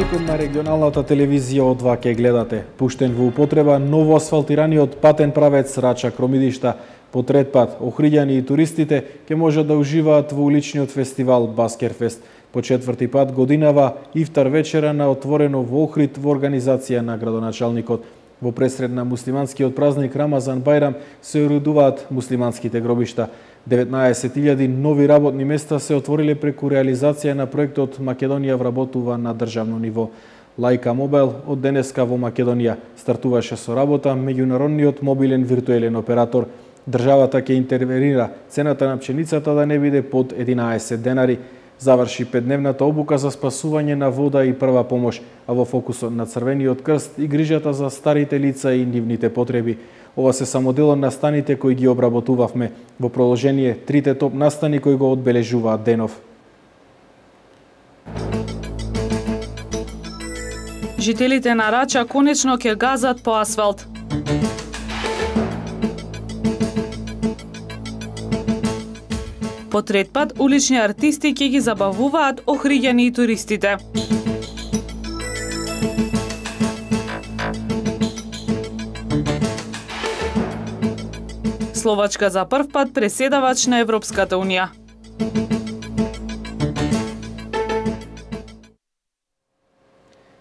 Градоначалникот на регионалната телевизија О2 ке гледате. Пуштен во употреба ново асфалтираниот патен правец Рача-Кромидишта. По трет пат, охриѓани и туристите ке можат да уживаат во уличниот фестивал Баскерфест. По четврти пат годинава ифтар вечера на отворено во Охрид во организација на градоначалникот. Во пресред на муслиманскиот празник Рамазан Бајрам се уредуваат муслиманските гробишта. 19.000 нови работни места се отвориле преку реализација на проектот Македонија вработува на државно ниво. Лајка Мобайл од денеска во Македонија стартуваше со работа меѓународниот мобилен виртуелен оператор. Државата ќе интервенира цената на пшеницата да не биде под 11 денари. Заврши 5-дневната обука за спасување на вода и прва помош, а во фокусот на Црвениот крст и грижата за старите лица и нивните потреби. Ова се само дел од настаните кои ги обработувавме. Во продолжение, трите топ настани кои го одбележуваат денов. Жителите на Рача конечно ќе газат по асфалт. По трет пат, улични артисти ќе ги забавуваат охриѓани и туристите. Словачка за прв пат преседавач на Европската Унија.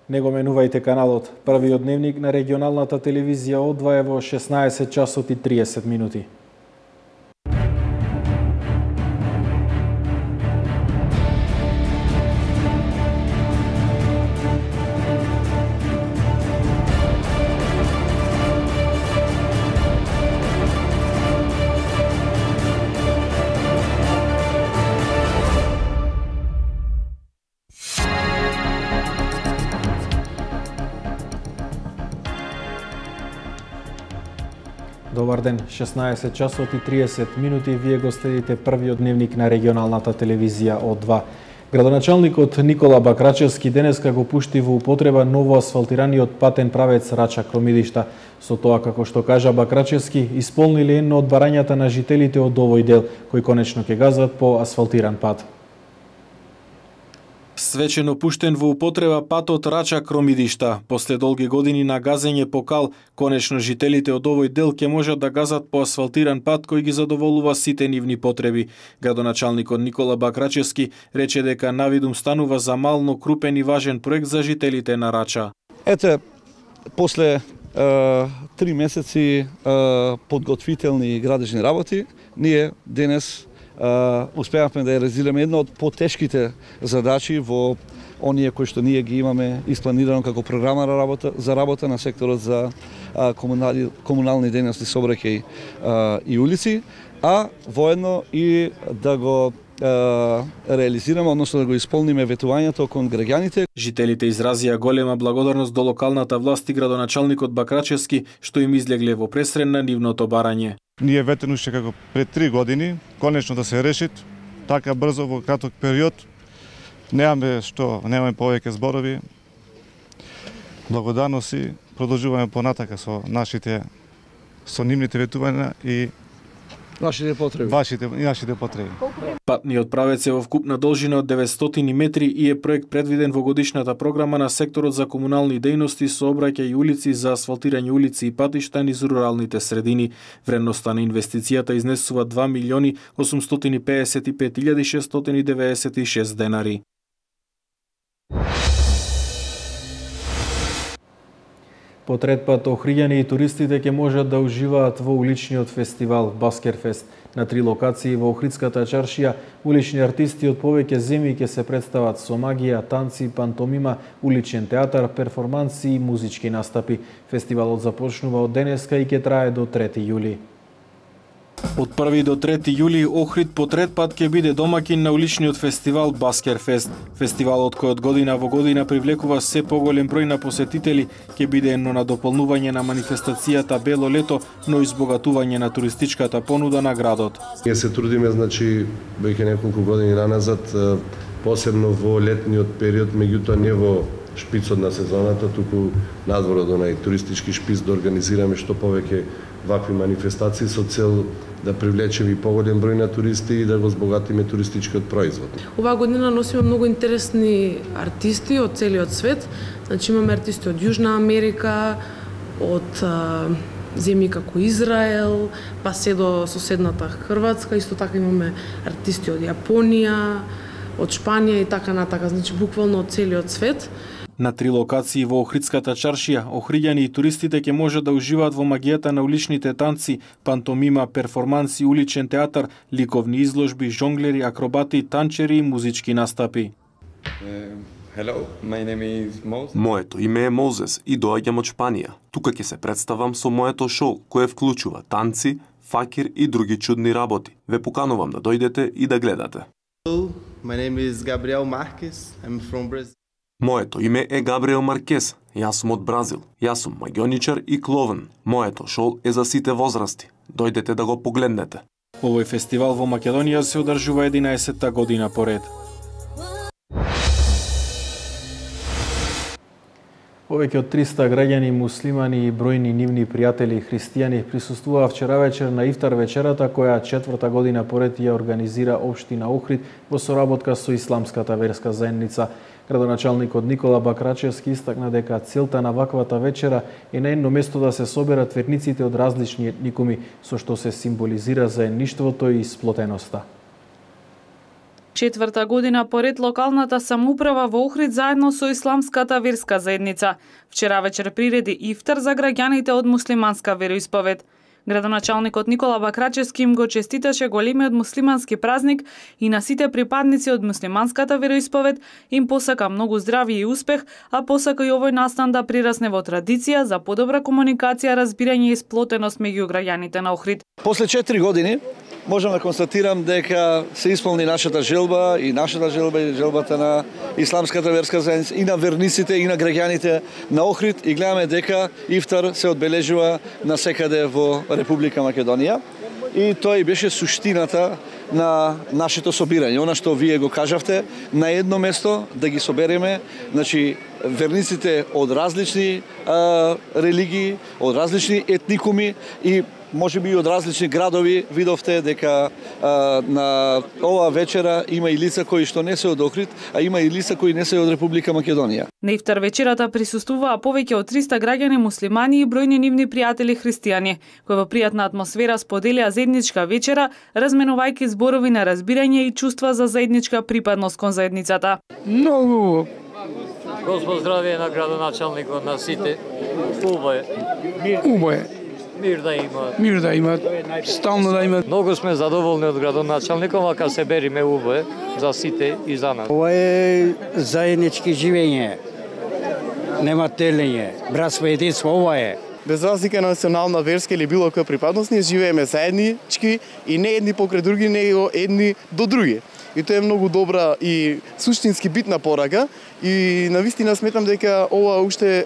Не го менувајте каналот. Првиот дневник на регионалната телевизија О2 во 16 часот и 30 минути. Добар ден, 16 часот и 30 минути, вие го следите првиот дневник на регионалната телевизија О2. Градоначалникот Никола Бакрачевски денеска го пушти во употреба ново асфалтираниот патен правец Рача-Кромидишта. Со тоа, како што кажа Бакрачевски, исполнили едно од барањата на жителите од овој дел, кои конечно ќе газат по асфалтиран пат. Свечено пуштен во употреба патот Рача-Кромидишта. После долги години на газење по кал, конечно жителите од овој дел ќе можат да газат по асфалтиран пат кој ги задоволува сите нивни потреби. Градоначалникот Никола Бакрачевски рече дека навидум станува за мал, но крупен и важен проект за жителите на Рача. Ете, после 3 месеци подготвителни градежни работи, ние денес успеавме да ја реализираме една од потешките задачи во оние кои што ние ги имаме испланирано како програма за работа на секторот за комунални дејности, сообраќај и улици, а воедно и да го реализираме, односно да го исполниме ветувањето кон граѓаните. Жителите изразија голема благодарност до локалната власт и градоначалникот Бакрачевски што им излегле во пресрен на нивното барање. Ние ветено уште како пред 3 години, конечно да се решит, така брзо во краток период. Немаме повеќе зборови. Благодарности, продолжуваме понатака со нивните ветувања и нашите потреби. Нашите потреби. Патниот правец е во вкупна должина од 900 метри и е проект предвиден во годишната програма на секторот за комунални дејности, сообраќај и улици за асфалтирање улици и патишта низ руралните средини. Вредноста на инвестицијата изнесува 2.855.696 денари. По трет пат, охриѓани и туристите ќе можат да уживаат во уличниот фестивал Баскерфест. На 3 локации во Охридската чаршија, улични артисти од повеќе земји ќе се представат со магија, танци, пантомима, уличен театар, перформанси и музички настапи. Фестивалот започнува од денеска и ќе трае до 3 јули. Од 1 до 3 јули Охрид по трет пат ќе биде домаќин на уличниот фестивал Баскерфест. Фестивалот кој од година во година привлекува се поголем број на посетители ќе биде едно надополнување на манифестацијата Бело лето, но и избогатување на туристичката понуда на градот. Ние се трудиме, веќе неколку години наназад, посебно во летниот период, меѓутоа не во шпицот на сезоната, туку надвор од онај туристички шпиц да организираме што повеќе вакви манифестации со цел да привлечеме и поголем број на туристи и да го збогатиме туристичкиот производ. Оваа година носиме многу интересни артисти од целиот свет. Значи имаме артисти од Јужна Америка, од земји како Израел, па се до соседната Хрватска, исто така имаме артисти од Јапонија, од Шпанија и така натака, значи буквално од целиот свет. На 3 локации во Охридската чаршија, охриѓани и туристите ќе можат да уживаат во магијата на уличните танци, пантомима, перформанси, уличен театар, ликовни изложби, жонглери, акробати, танчери и музички настапи. Hello, my name is Moses. Моето име е Мозес и доаѓам од Шпанија. Тука ќе се представам со моето шоу, кое вклучува танци, факир и други чудни работи. Ве поканувам да дојдете и да гледате. Hello, my name is Gabriel Marques. I'm from Brazil. Моето име е Габриел Маркес. Јас сум од Бразил. Јас сум магионичар и кловен. Моето шоу е за сите возрасти. Дојдете да го погледнете. Овој фестивал во Македонија се одржува 11-та година поред. Повеќе од 300 граѓани муслимани и бројни нивни пријатели христијани присуствуваа вчера вечер на ифтар вечерата која 4-та година поред ја организира општина Охрид во соработка со исламската верска заедница. Градоначалникот Никола Бакрачевски истакна дека целта на ваквата вечера е на едно место да се соберат верниците од различни етникуми, со што се символизира заедништвото и сплотеноста. 4-та година поред локалната самоуправа во Охрид заедно со исламската верска заедница вчера вечер приреди ифтар за граѓаните од муслиманска вероисповед. Градоначалникот Никола Бакрачевски им го честиташе големиот муслимански празник и на сите припадници од муслиманската вероисповед им посака многу здравје и успех, а посака и овој настан да прирасне во традиција за подобра комуникација, разбирање и сплотеност меѓу граѓаните на Охрид. После 4 години можам да констатирам дека се исполни нашата желба и желбата на исламската верска заедница и на верниците и на граѓаните на Охрид и гледаме дека ифтар се одбележува насекаде во Република Македонија и тоа и беше суштината на нашето собирање. Она што вие го кажавте, на едно место да ги собереме, значи верниците од различни религии, од различни етникуми и може би и од различни градови. Видовте дека на оваа вечера има и лица кои што не се од Охрид, а има и лица кои не се од Република Македонија. На ифтар вечерата присуствуваа повеќе од 300 граѓани муслимани и бројни нивни пријатели христијани, кои во пријатна атмосфера споделија заедничка вечера, разменувајќи зборови на разбирање и чувства за заедничка припадност кон заедницата. Многу Господ здравје на градоначалникот на сите. убаво е. Мир да има. Мир да имат, стално да имат. Многу сме задоволни од градоначалникот, ака се бериме убаве за сите и за нас. Ова е заеднички живење. Нема телење, братство и единство, ова е. Без разлика на национална, верска или било која припадност, ние живееме заеднички и не едни покрај други, него едни до други. И тоа е многу добра и суштински битна порака и навистина сметам дека ова уште,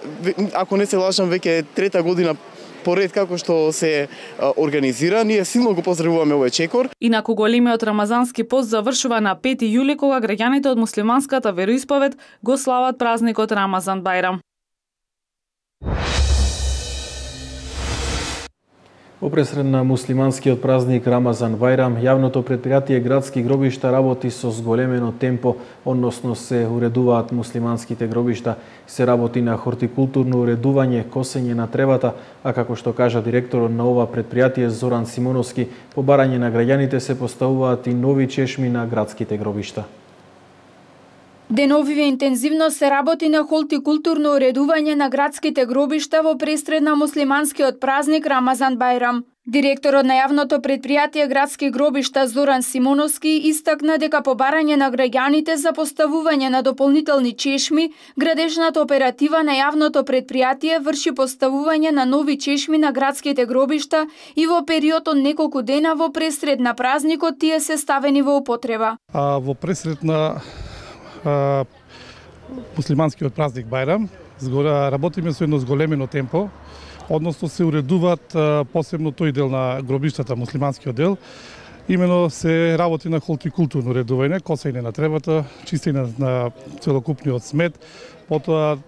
ако не се лажам, веќе трета година поред како што се организира, ние силно го поздравуваме овој чекор. Инаку големиот рамазански пост завршува на 5 јули кога граѓаните од муслиманската вероисповед го слават празникот Рамазан Бајрам. Во пресред на муслиманскиот празник Рамазан Бајрам, јавното предпријатие Градски гробишта работи со зголемено темпо, односно се уредуваат муслиманските гробишта, се работи на хортикултурно уредување, косење на тревата, а како што кажа директорот на ова предпријатие Зоран Симоновски, по барање на граѓаните се поставуваат и нови чешми на градските гробишта. Деновиве интензивно се работи на хортикултурно уредување на градските гробишта во пресред на муслиманскиот празник Рамазан Бајрам. Директорот на јавното предпријатие Градски гробишта Зоран Симоновски истакна дека по барање на граѓаните за поставување на дополнителни чешми, градежната оператива на јавното предпријатие врши поставување на нови чешми на градските гробишта и во период од неколку дена во пресред на празникот тие се ставени во употреба. Во пресред на муслиманскиот празник Бајрам работиме со едно зголемено темпо, односно се уредуваат посебно тој дел на гробиштата, муслиманскиот дел. Имено се работи на хортикултурно уредување, косење на тревата, чистење на целокупниот смет, потоа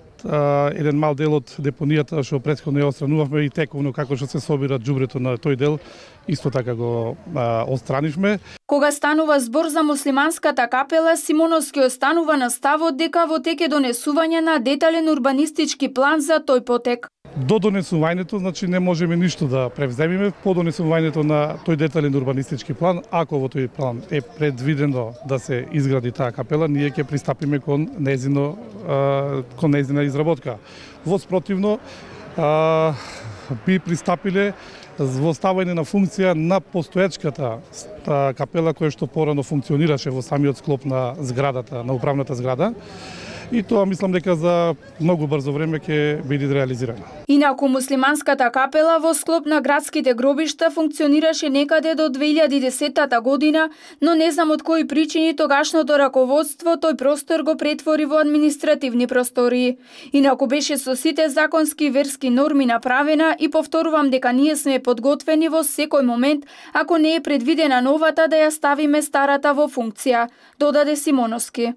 еден мал дел од депонијата што претходно ја отстранувавме и тековно како што се собира џубрето на тој дел, исто така го отстранивме. Кога станува збор за муслиманската капела, Симоновски останува на ставот дека во тек е донесување на детален урбанистички план за тој потек. До донесувањето, значи не можеме ништо да превземеме по донесувањето на тој детален урбанистички план. Ако во тој план е предвидено да се изгради таа капела, ние ќе пристапиме кон нејзина изработка. Во спротивно, би пристапиле во ставање на функција на постоечката капела која што порано функционираше во самиот склоп на зградата, на управната зграда. И тоа мислам дека за многу брзо време ќе биде реализирано. Инаку муслиманската капела во склоп на градските гробишта функционираше некаде до 2010 година, но не знам од кои причини тогашното раководство тој простор го претвори во административни простории. Инаку беше со сите законски верски норми направена и повторувам дека ние сме подготвени во секој момент, ако не е предвидена новата, да ја ставиме старата во функција, додаде Симоновски.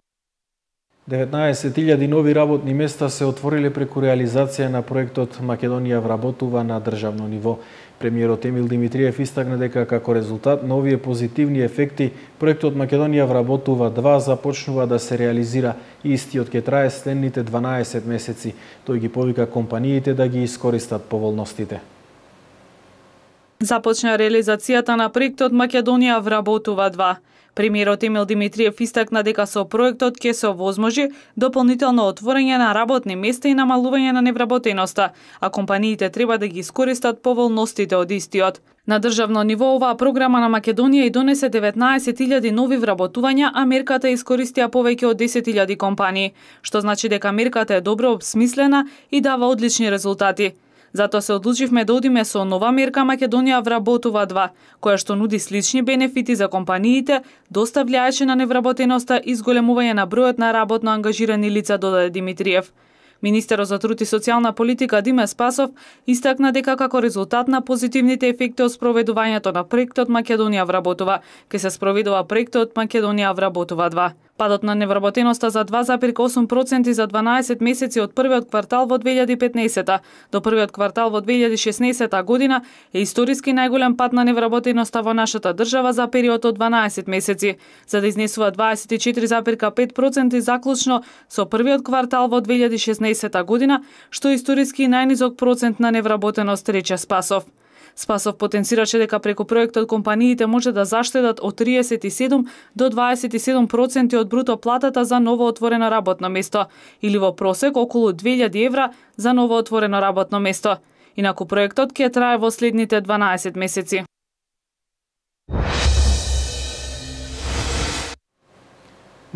19.000 нови работни места се отвориле преку реализација на проектот Македонија вработува на државно ниво. Премиерот Емил Димитриев истакна дека како резултат на овие позитивни ефекти, проектот Македонија вработува 2 започнува да се реализира и истиот ќе трае следните 12 месеци. Тој ги повика компаниите да ги искористат поволностите. Започна реализацијата на проектот Македонија вработува 2. Премиерот Емил Димитриев истакна дека со проектот ќе се овозможи дополнително отворање на работни места и намалување на невработеноста, а компаниите треба да ги искористат поволностите од истиот. На државно ниво оваа програма на Македонија и донесе 19.000 нови вработувања, а мерката искористија повеќе од 10.000 компании, што значи дека мерката е добро обсмислена и дава одлични резултати. Затоа се одлучивме да одиме со нова мерка Македонија вработува 2, која што нуди слични бенефити за компаниите, доста влијаеше на невработеноста и зголемување на бројот на работно ангажирани лица, додаде Димитриев. Министерот за труд и социјална политика Диме Спасов истакна дека како резултат на позитивните ефекти од спроведувањето на проектот Македонија вработува, ќе се спроведува проектот Македонија вработува 2. Падот на невработеноста за 2,8% за 12 месеци од првиот квартал во 2015 до првиот квартал во 2016 година е историски најголем пад на невработеноста во нашата држава за период од 12 месеци, за да изнесува 24,5% заклучно со првиот квартал во 2016 година, што е историски најнизок процент на невработеност, рече Спасов. Спасов потенцираше дека преку проектот компаниите може да заштедат од 37 до 27% од бруто платата за ново отворено работно место, или во просек околу 2000 евра за ново отворено работно место. Инаку проектот ќе трае во следните 12 месеци.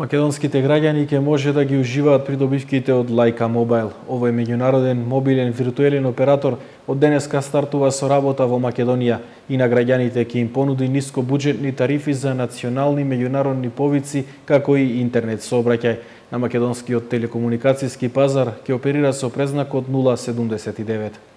Македонските граѓани ќе може да ги уживаат придобивките од Лајка Мобайл. Овој меѓународен мобилен виртуелен оператор од денеска стартува со работа во Македонија и на граѓаните ќе им понуди нискобуџетни тарифи за национални меѓународни повици, како и интернет сообраќај. На македонскиот телекомуникацијски пазар ќе оперира со презнакот 079.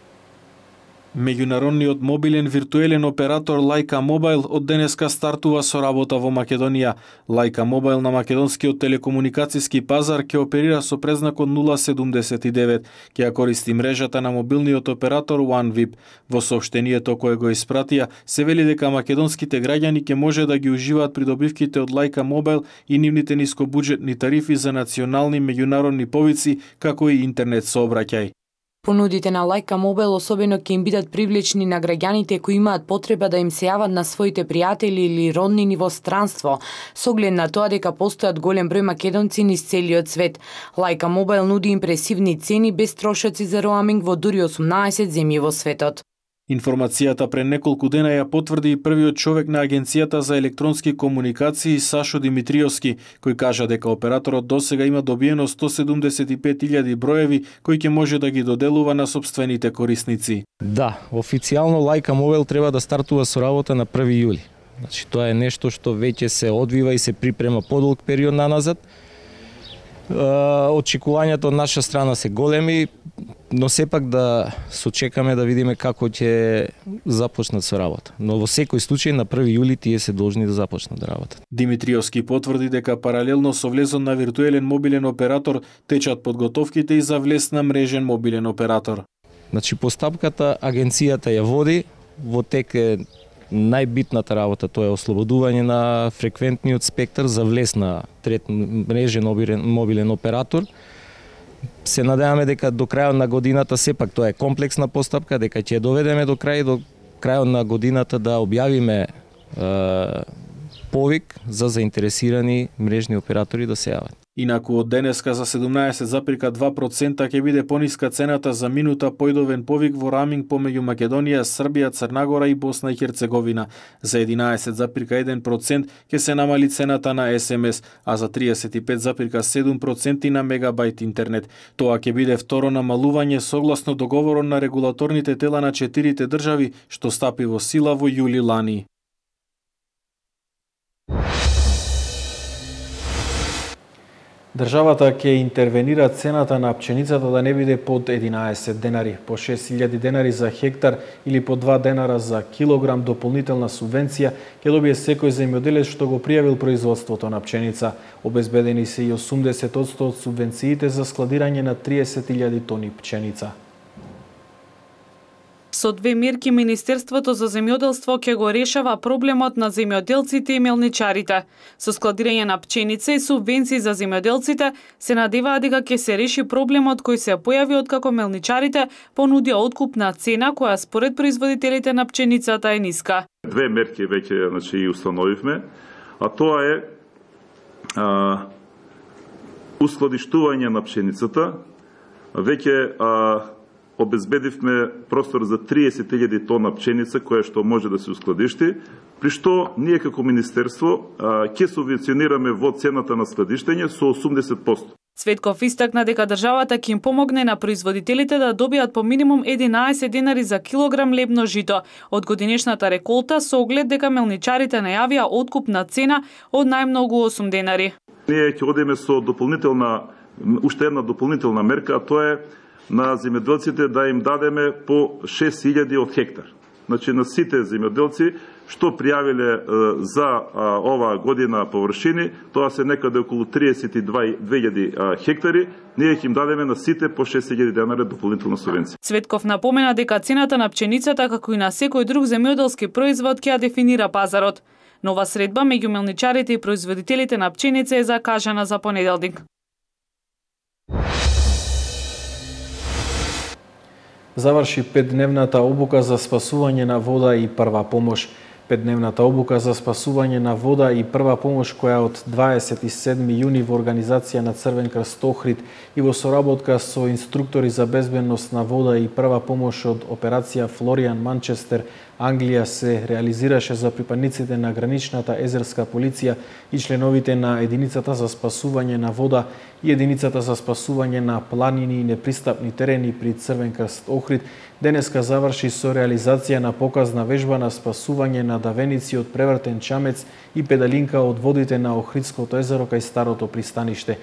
Меѓународниот мобилен виртуелен оператор Лајка Мобайл од денеска стартува со работа во Македонија. Лајка Мобайл на македонскиот телекомуникацијски пазар ќе оперира со презнакот 079. Ќе ја користи мрежата на мобилниот оператор OneVip. Во соопштението кое го испратија се вели дека македонските граѓани ќе може да ги уживаат придобивките од Лајка Мобайл и нивните нискобуџетни тарифи за национални меѓународни повици, како и интернет сообраќај. Понудите на Лајка Мобайл особено ќе им бидат привлечни на граѓаните кои имаат потреба да им се јават на своите пријатели или роднини во странство, со оглед на тоа дека постојат голем број македонци низ целиот свет. Лајка Мобайл нуди импресивни цени без трошоци за роаминг во дури 18 земји во светот. Информацијата пред неколку дена ја потврди и првиот човек на Агенцијата за електронски комуникации Сашо Димитриовски, кој кажа дека операторот досега има добиено 175.000 броеви кои ќе може да ги доделува на сопствените корисници. Да, официјално Лајка Мобайл треба да стартува со работа на 1 јули. Значи тоа е нешто што веќе се одвива и се припрема подолг период наназад. Очекувањата од наша страна се големи, но сепак да сочекаме да видиме како ќе започнат со работа. Но во секој случај на 1 јули тие се должни да започнат да работат. Димитриовски потврди дека паралелно со влезот на виртуелен мобилен оператор течат подготовките и за влез на мрежен мобилен оператор. Значи постапката агенцијата ја води, во тек е најбитната работа тоа е ослободување на фреквентниот спектар за влез на трет мрежен мобилен оператор. Се надеваме дека до крајот на годината, сепак тоа е комплексна постапка, дека ќе доведеме до крајот на годината да објавиме повик за заинтересирани мрежни оператори да се јават. Инаку од денеска за 17,2% ќе биде пониска цената за минута појдовен повик во раминг помеѓу Македонија, Србија, Црна Гора и Босна и Херцеговина. За 11,1% ќе се намали цената на СМС, а за 35,7% на мегабајт интернет. Тоа ќе биде второ намалување согласно договорот на регулаторните тела на 4 држави, што стапи во сила во јули лани. Државата ќе интервенира цената на пченицата да не биде под 11 денари, по 6.000 денари за хектар или по 2 денара за килограм дополнителна субвенција ќе добие секој земјоделец што го пријавил производството на пченица. Обезбедени се и 80% од субвенциите за складирање на 30.000 тони пченица. Со две мерки Министерството за земјоделство ќе го решава проблемот на земјоделците и мелничарите. Со складирање на пченица и субвенции за земјоделците се надеваат дека ќе се реши проблемот кој се појави откако мелничарите понудија откупна цена која според производителите на пченицата е ниска. Две мерки веќе и установивме, а тоа е ускладиштување на пшеницата. Веќе обезбедивме простор за 30.000 тона пченица која што може да се ускладишти, при што ние како министерство ќе субвенционираме во цената на складиштење со 80%. Цветков истакна дека државата ќе им помогне на производителите да добијат по минимум 11 денари за килограм лебно жито од годинешната реколта со оглед дека мелничарите најавија откупна цена од најмногу 8 денари. Ние ќе одиме со уште една дополнителна мерка, а тоа е на земјоделците да им дадеме по 6.000 од хектар. Значи на сите земјоделци што пријавиле за оваа година површини, тоа се некаде околу 32.000 хектари, ние ќе им дадеме на сите по 6.000 денари дополнителна субвенција. Цветков напомена дека цената на пченицата како и на секој друг земјоделски производ ќе ја дефинира пазарот. Нова средба меѓу мелничарите и производителите на пченица е закажана за понеделник. Заврши 5-дневната обука за спасување на вода и прва помош. 5-дневната обука за спасување на вода и прва помош која од 27 јуни во организација на Црвен крст Охрид и во соработка со инструктори за безбедност на вода и прва помош од операција Флориан Манчестер, Англија се реализираше за припадниците на граничната езерска полиција и членовите на единицата за спасување на вода и единицата за спасување на планини и непристапни терени при Црвен крст Охрид денеска заврши со реализација на показна вежба на спасување на давеници од превртен чамец и педалинка од водите на Охридското езеро кај старото пристаниште.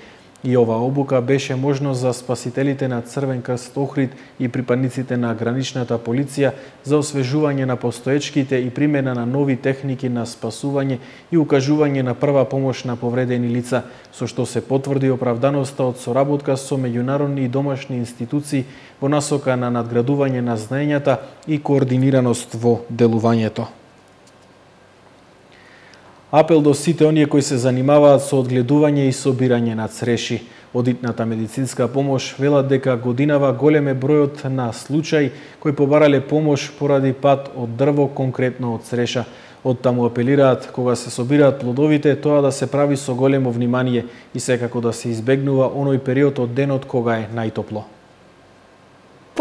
И ова обука беше можност за спасителите на Црвен крст Охрид и припадниците на граничната полиција за освежување на постоечките и примена на нови техники на спасување и укажување на прва помош на повредени лица, со што се потврди оправданоста од соработка со меѓународни и домашни институции во насока на надградување на знаењата и координираност во делувањето. Апел до сите оние кои се занимаваат со одгледување и собирање на цреши. Од итната медицинска помош велат дека годинава голем е бројот на случаи кои побарале помош поради пат од дрво, конкретно од цреша. Оттаму апелираат кога се собираат плодовите тоа да се прави со големо внимание и секако да се избегнува оној период од денот кога е најтопло.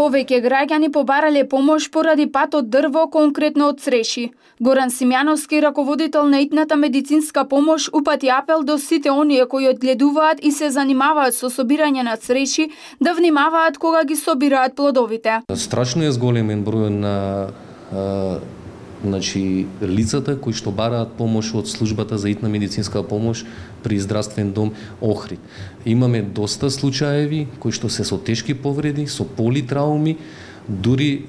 Повеќе граѓани побарале помош поради пат од дрво, конкретно од цреши. Горан Симјановски, раководител на итната медицинска помош, упати апел до сите оние кои одгледуваат и се занимаваат со собирање на цреши да внимаваат кога ги собираат плодовите. Страшно е зголемен број на лицата кои што бараат помош од службата за итна медицинска помош при здравствен дом Охрид. Имаме доста случаеви кои што се со тешки повреди, со политрауми, дури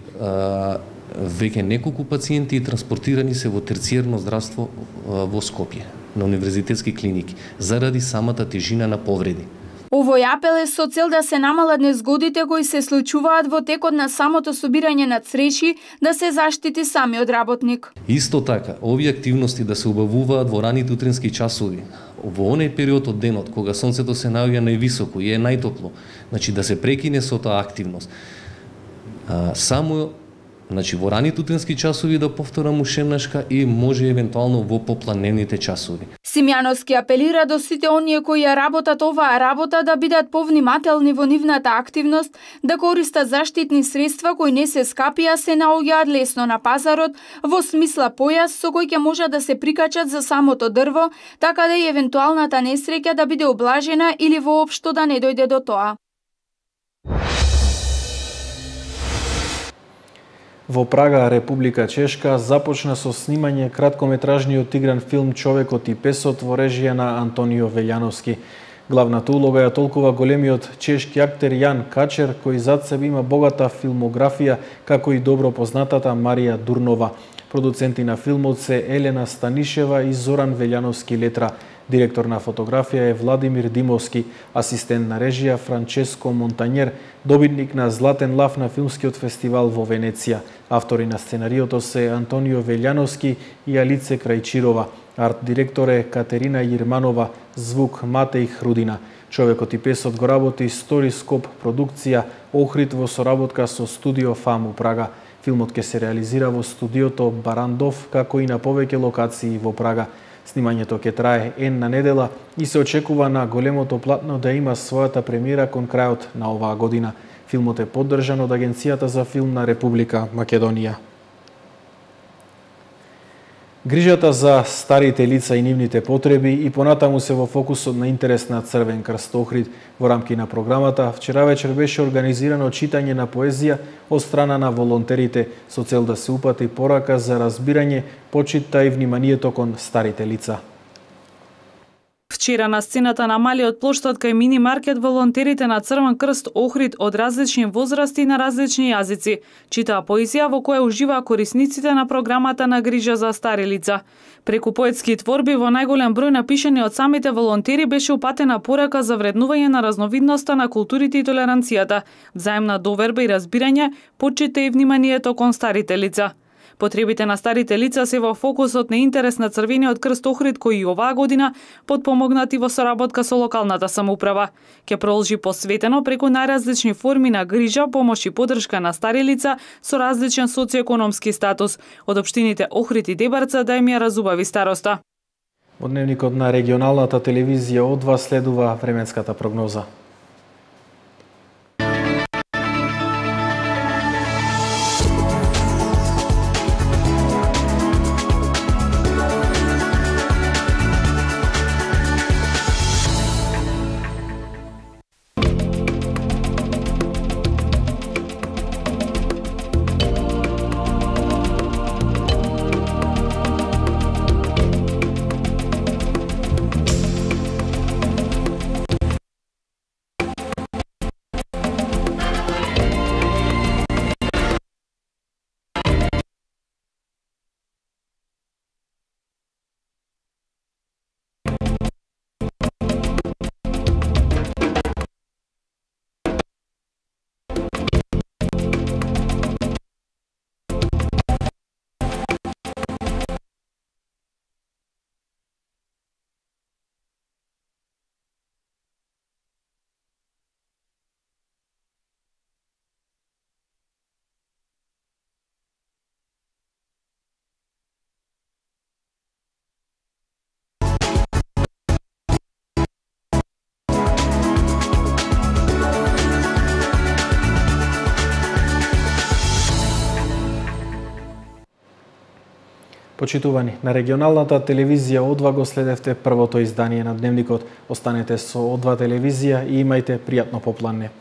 веќе неколку пациенти транспортирани се во терциерно здравство во Скопје, на универзитетски клиники, заради самата тежина на повреди. Овој апел е со цел да се намалат незгодите кои се случуваат во текот на самото собирање на цреши, да се заштити самиот работник. Исто така, овие активности да се убавуваат во раните утрински часови, во оној период од денот кога сонцето се наоѓа највисоко и е најтопло, значи да се прекине со таа активност. Само во раните утрински часови, да повторам ушемнашка, и може евентуално во попланените часови. Симјановски апелира до сите оние кои ја работат оваа работа да бидат повнимателни во нивната активност, да користат заштитни средства кои не се скапи, а се наоѓаат лесно на пазарот, во смисла појас со кој ќе можат да се прикачат за самото дрво, така да и евентуалната несреќа да биде облажена или воопшто да не дојде до тоа. Во Прага, Република Чешка, започна со снимање краткометражниот игран филм Човекот и песот во режија на Антонио Велјановски. Главната улога ја толкува големиот чешки актер Јан Качер, кој зад себе има богата филмографија, како и добро познатата Марија Дурнова. Продуценти на филмот се Елена Станишева и Зоран Велјановски Летра. Директор на фотографија е Владимир Димовски, асистент на режија Франческо Монтањер, добитник на Златен лав на филмскиот фестивал во Венеција. Автори на сценариото се Антонио Велјановски и Алице Крајчирова. Арт директор е Катерина Јирманова, звук Матеј Хрудина. Човекот и песот го работи Сторископ продукција Охрид во соработка со студио ФАМ у Прага. Филмот ќе се реализира во студиото Барандов, како и на повеќе локации во Прага. Снимањето ќе трае една недела и се очекува на големото платно да има својата премиера кон крајот на оваа година. Филмот е поддржан од Агенцијата за филм на Република Македонија. Грижата за старите лица и нивните потреби и понатаму се во фокусот на интерес на Црвен крст Охрид. Во рамки на програмата, вчера вечер беше организирано читање на поезија од страна на волонтерите со цел да се упати порака за разбирање, почита и вниманието кон старите лица. Вчера на сцената на малиот плоштад кај мини маркет волонтерите на Црвен крст Охрид од различни возрасти и на различни јазици читаа поезија во која уживаа корисниците на програмата на грижа за стари лица. Преку поетски творби во најголем број напишани од самите волонтери беше упатена порака за вреднување на разновидноста на културите и толеранцијата, взаемна доверба и разбирање, почита и вниманието кон старите лица. Потребите на старите лица се во фокусот на интерес на Црвениот крст Охрид, кој и оваа година, подпомогнати во соработка со локалната самоуправа, ќе продолжи посветено преку најразлични форми на грижа, помош и поддршка на стари лица со различен социоекономски статус, од општините Охрид и Дебарца да им ја разубави староста. Од дневникот на регионалната телевизија од вас следува временската прогноза. Почитувани, на регионалната телевизија Одва го следевте првото издание на Дневникот. Останете со Одва телевизија и имајте пријатно попланне.